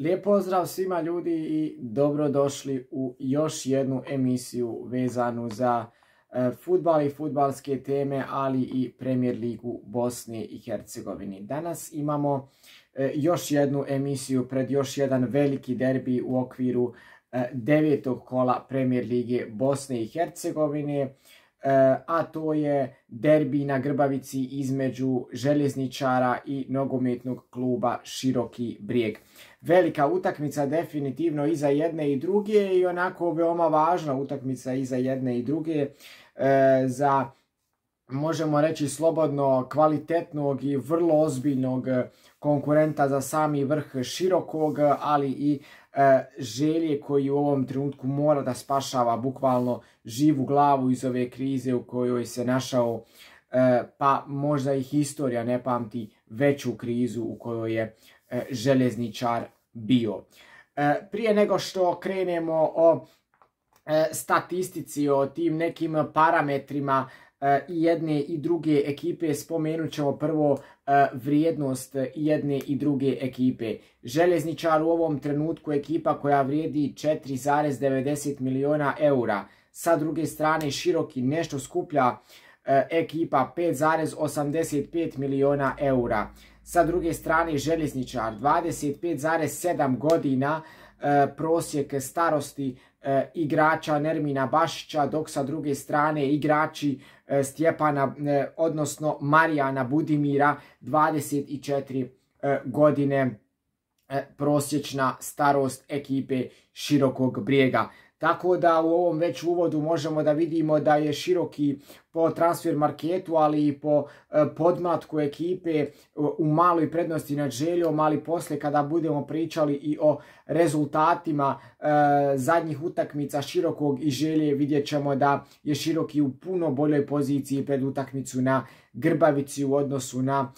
Lijep pozdrav svima ljudi i dobrodošli u još jednu emisiju vezanu za fudbal i fudbalske teme, ali i Premier ligu Bosne i Hercegovine. Danas imamo još jednu emisiju pred još jedan veliki derbi u okviru devetog kola Premier lige Bosne i Hercegovine, a to je derbi na Grbavici između Željezničara i nogometnog kluba Široki Brijeg. Velika utakmica definitivno i za jedne i druge i onako veoma važna utakmica i za jedne i druge za, možemo reći slobodno, kvalitetnog i vrlo ozbiljnog konkurenta za sami vrh Širokog, ali i Želje koji u ovom trenutku mora da spašava bukvalno živu glavu iz ove krize u kojoj se našao, pa možda i historija ne pamti veću krizu u kojoj je Željezničar bio. Prije nego što krenemo o statistici, o tim nekim parametrima i jedne i druge ekipe, spomenut ćemo prvo vrijednost jedne i druge ekipe. Željezničar u ovom trenutku ekipa koja vrijedi 4,90 miliona eura. Sa druge strane Široki nešto skuplja ekipa 5,85 miliona eura. Sa druge strane Željezničar 25,7 godina prosjek starosti igrača Nermina Bašića, dok sa druge strane igrači Stjepana, odnosno Marijana Budimira, 24 godine prosječna starost ekipe Širokog Brijega. Tako da u ovom već uvodu možemo da vidimo da je Široki po transfer marketu, ali i po podmlatku ekipe u maloj prednosti nad Željom, ali poslije kada budemo pričali i o rezultatima zadnjih utakmica Širokog i Želje, vidjet ćemo da je Široki u puno boljoj poziciji pred utakmicu na Grbavici u odnosu na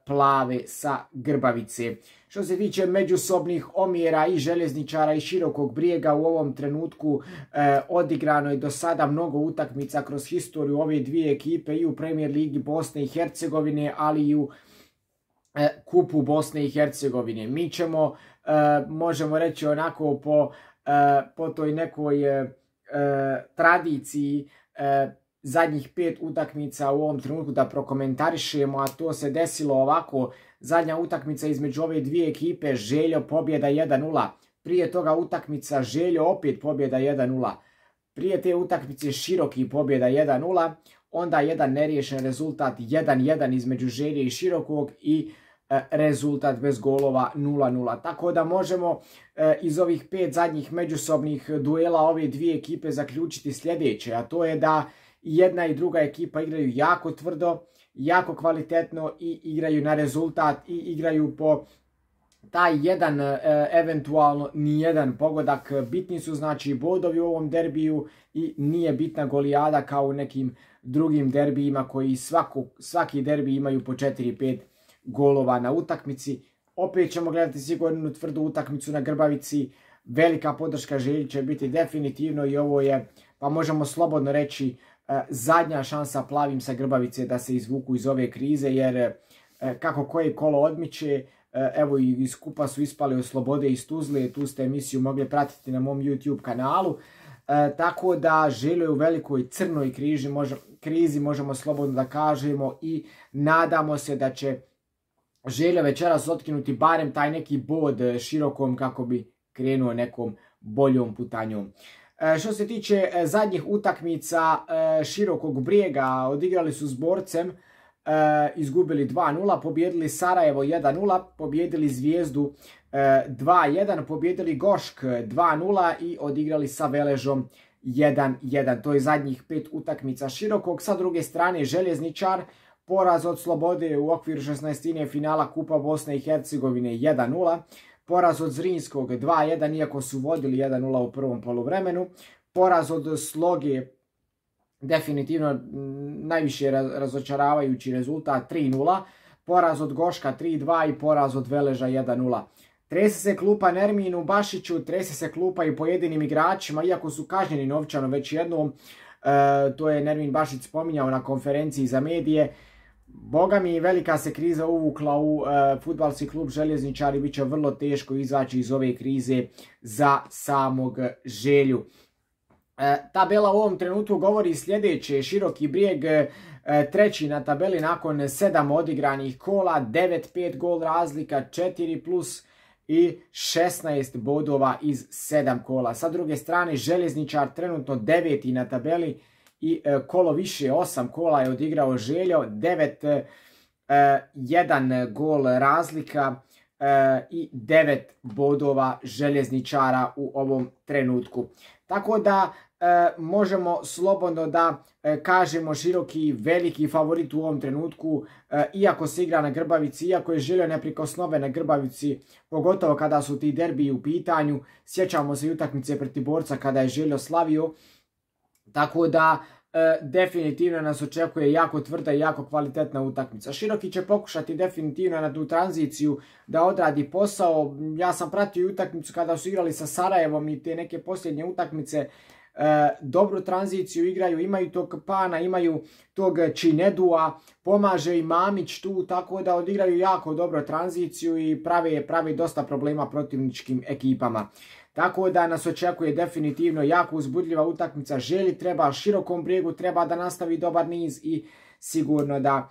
Plave sa Grbavice. Što se tiče međusobnih omjera i Željezničara i Širokog Brijega, u ovom trenutku odigrano je do sada mnogo utakmica kroz historiju ove dvije ekipe i u Premier ligi Bosne i Hercegovine, ali i u Kupu Bosne i Hercegovine. Mi ćemo, možemo reći onako po toj nekoj tradiciji, zadnjih 5 utakmica u ovom trenutku da prokomentarišemo, a to se desilo ovako. Zadnja utakmica između ove dvije ekipe, Željo pobjeda 1-0. Prije toga utakmica Željo opet pobjeda 1-0. Prije te utakmice Široki pobjeda 1-0. Onda jedan neriješen rezultat 1-1 između Želje i Širokog i rezultat bez golova 0-0. Tako da možemo iz ovih 5 zadnjih međusobnih duela ove dvije ekipe zaključiti sljedeće, a to je da jedna i druga ekipa igraju jako tvrdo, jako kvalitetno i igraju na rezultat i igraju po taj jedan, eventualno nijedan pogodak. Bitni su znači bodovi u ovom derbiju i nije bitna golijada kao u nekim drugim derbijima koji svaki derbi imaju po 4-5 golova na utakmici. Opet ćemo gledati sigurno tvrdu utakmicu na Grbavici. Velika podrška Želji će biti definitivno i ovo je, pa možemo slobodno reći, zadnja šansa Plavim sa Grbavice da se izvuku iz ove krize, jer kako koje kolo odmiče, evo i iz kupa su ispali od Slobode iz Tuzle, tu ste emisiju mogli pratiti na mom YouTube kanalu, tako da Željo je u velikoj crnoj krizi, možemo slobodno da kažemo, i nadamo se da će Željo večeras otkinuti barem taj neki bod Širokom kako bi krenuo nekom boljom putanjom. Što se tiče zadnjih utakmica Širokog Brijega, odigrali su s Borcem, izgubili 2-0, pobjedili Sarajevo 1-0, pobjedili Zvijezdu 2-1, pobjedili Gošk 2-0 i odigrali sa Veležom 1-1. To je zadnjih 5 utakmica Širokog. Sa druge strane Željezničar, poraz od Slobode u okviru 16. finala Kupa Bosne i Hercegovine 1-0. Poraz od Zrinskog 2-1, iako su vodili 1-0 u prvom poluvremenu. Poraz od Sloge, definitivno najviše razočaravajući rezultat, 3-0. Poraz od Goška 3-2 i poraz od Veleža 1-0. Trese se klupa Nerminu Bašiću, trese se klupa i pojedinim igračima, iako su kažnjeni novčano već jednom. To je Nermin Bašić spominjao na konferenciji za medije. Boga mi, velika se kriza uvukla u fudbalski klub Željezničari, bit će vrlo teško izaći iz ove krize za samog Želju. Tabela u ovom trenutku govori sljedeće: Široki Brijeg treći na tabeli nakon 7 odigranih kola, 9-5 gol razlika, 4+ i 16 bodova iz 7 kola. Sa druge strane, Željezničar trenutno 9. na tabeli i kolo više, 8 kola je odigrao Željo, 1 gol razlika i 9 bodova Željezničara u ovom trenutku. Tako da možemo slobodno da kažemo Široki veliki favorit u ovom trenutku, iako se igra na Grbavici, iako je Željo neprikosnoven na Grbavici, pogotovo kada su ti derbiji u pitanju. Sjećamo se i utakmice protiv Borca kada je Željo slavio. Tako da definitivno nas očekuje jako tvrda i jako kvalitetna utakmica. Široki će pokušati definitivno na tu tranziciju da odradi posao. Ja sam pratio utakmicu kada su igrali sa Sarajevom i te neke posljednje utakmice. Dobru tranziciju igraju, imaju tog Pana, imaju tog Činedua, pomaže i Mamić tu, tako da odigraju jako dobro tranziciju i prave dosta problema protivničkim ekipama. Tako da nas očekuje definitivno jako uzbudljiva utakmica. Želji treba, Širokom Brijegu treba da nastavi dobar niz i sigurno da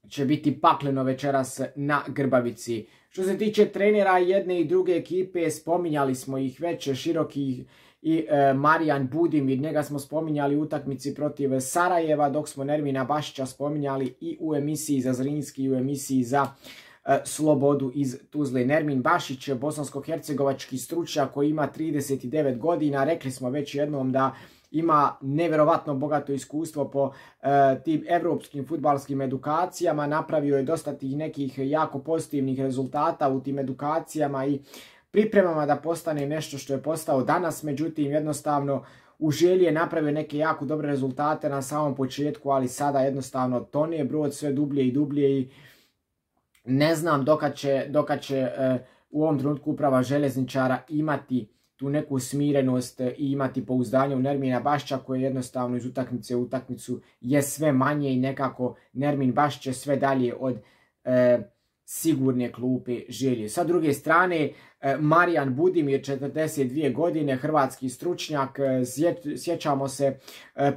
će biti pakleno večeras na Grbavici. Što se tiče trenera jedne i druge ekipe, spominjali smo ih već, Široki i Marijan Budimir, njega smo spominjali u utakmici protiv Sarajeva, dok smo Nermina Bašića spominjali i u emisiji za Zrinski i u emisiji za Slobodu iz Tuzle. Nermin Bašić, bosansko-hercegovački stručnjak koji ima 39 godina, rekli smo već jednom da ima nevjerovatno bogato iskustvo po tim evropskim fudbalskim edukacijama, napravio je dosta tih nekih jako pozitivnih rezultata u tim edukacijama i pripremama da postane nešto što je postao danas. Međutim, jednostavno u Želji je napravio neke jako dobre rezultate na samom početku, ali sada jednostavno tone brod sve dublje i dublje i ne znam dokad će u ovom trenutku uprava Željezničara imati tu neku smirenost i imati pouzdanje u Nermina Bašića, koje jednostavno iz utakmice u utakmicu je sve manje i nekako Nermin Bašić je sve dalje od sigurne klupe Želje. Sa druge strane, Marijan Budimir, 42 godine, hrvatski stručnjak, sjećamo se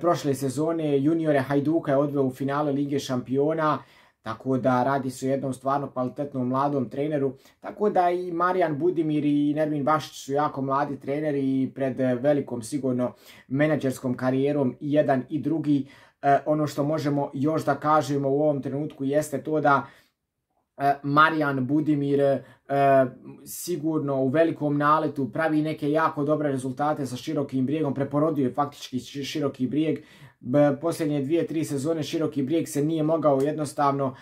prošle sezone juniore Hajduka je odveo u finale Lige šampiona, tako da radi se o jednom stvarno kvalitetnom mladom treneru. Tako da i Marijan Budimir i Nermin Bašić su jako mladi treneri i pred velikom sigurno menadžerskom karijerom i jedan i drugi. Ono što možemo još da kažemo u ovom trenutku jeste to da Marijan Budimir sigurno u velikom naletu pravi neke jako dobre rezultate sa Širokim Brijegom, preporodio je faktički Široki Brijeg. Posljednje 2-3 sezone Široki Brijeg se nije mogao jednostavno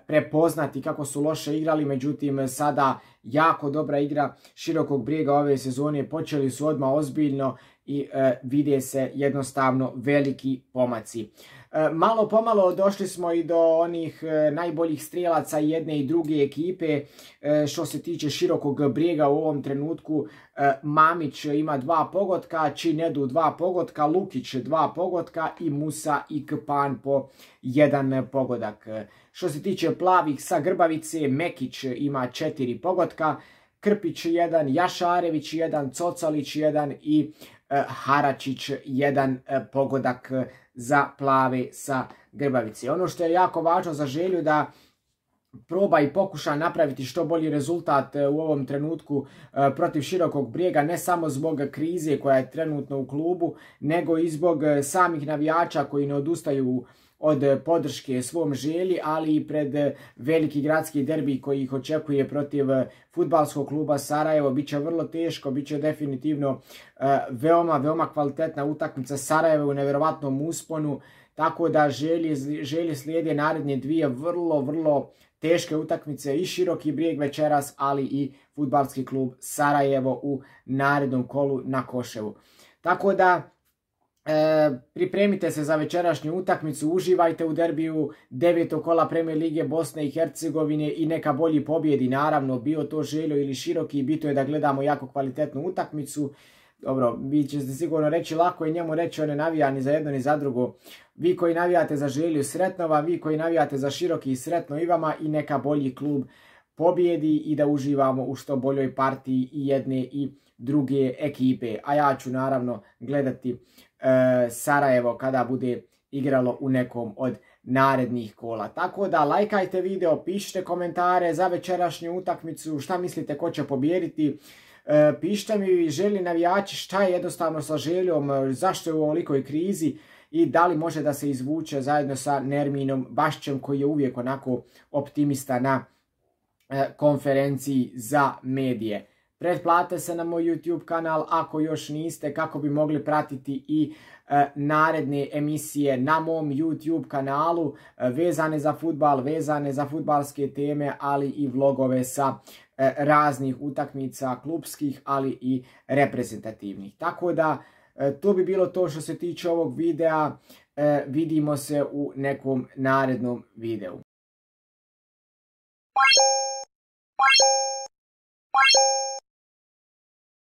prepoznati kako su loše igrali, međutim sada jako dobra igra Širokog Brijega ove sezone, počeli su odmah ozbiljno i vide se jednostavno veliki pomaci. Malo pomalo došli smo i do onih najboljih strijelaca jedne i druge ekipe. Što se tiče Širokog Brijega u ovom trenutku, Mamić ima 2 pogotka, Činedu 2 pogotka, Lukić 2 pogotka i Musa i Kpan po 1 pogodak. Što se tiče plavih sa Grbavice, Mekić ima 4 pogotka, Krpić 1, Jašarević 1, Cocalić 1 i Haračić 1 pogodak za plave sa Grbavice. Ono što je jako važno za Želju da proba i pokuša napraviti što bolji rezultat u ovom trenutku protiv Širokog Brijega, ne samo zbog krize koja je trenutno u klubu, nego i zbog samih navijača koji ne odustaju od podrške svom Želji, ali i pred veliki gradski derbi koji ih očekuje protiv fudbalskog kluba Sarajevo. Biće vrlo teško, biće definitivno veoma kvalitetna utakmica. Sarajevo u nevjerovatnom usponu, tako da Želji slijede naredne 2 vrlo teške utakmice, i Široki Brijeg večeras, ali i fudbalski klub Sarajevo u narednom kolu na Koševu. Tako da pripremite se za večerašnju utakmicu, uživajte u derbiju 9. kola Premijer Lige Bosne i Hercegovine i neka bolji pobjedi, naravno bio to Željo ili Široki, bitno je da gledamo jako kvalitetnu utakmicu. dobro, vi ćete sigurno reći, lako je njemu reći, on ne navija ni za jedno ni za drugo. Vi koji navijate za Želju, sretno vam, vi koji navijate za Široki, sretno i vama i neka bolji klub pobjedi i da uživamo u što boljoj partiji i jedne i druge ekipe. A ja ću naravno gledati Sarajevo kada bude igralo u nekom od narednih kola. Tako da lajkajte video, pišite komentare za večerašnju utakmicu, šta mislite ko će pobijediti. Pišite mi, Željni navijači, šta je jednostavno sa Željom, zašto je u ovolikoj krizi i da li može da se izvuče zajedno sa Nerminom Bašćem koji je uvijek onako optimista na konferenciji za medije. Pretplatite se na moj YouTube kanal ako još niste, kako bi mogli pratiti i naredne emisije na mom YouTube kanalu vezane za fudbal, vezane za fudbalske teme, ali i vlogove sa raznih utakmica klubskih, ali i reprezentativnih. Tako da to bi bilo to što se tiče ovog videa. Vidimo se u nekom narednom videu.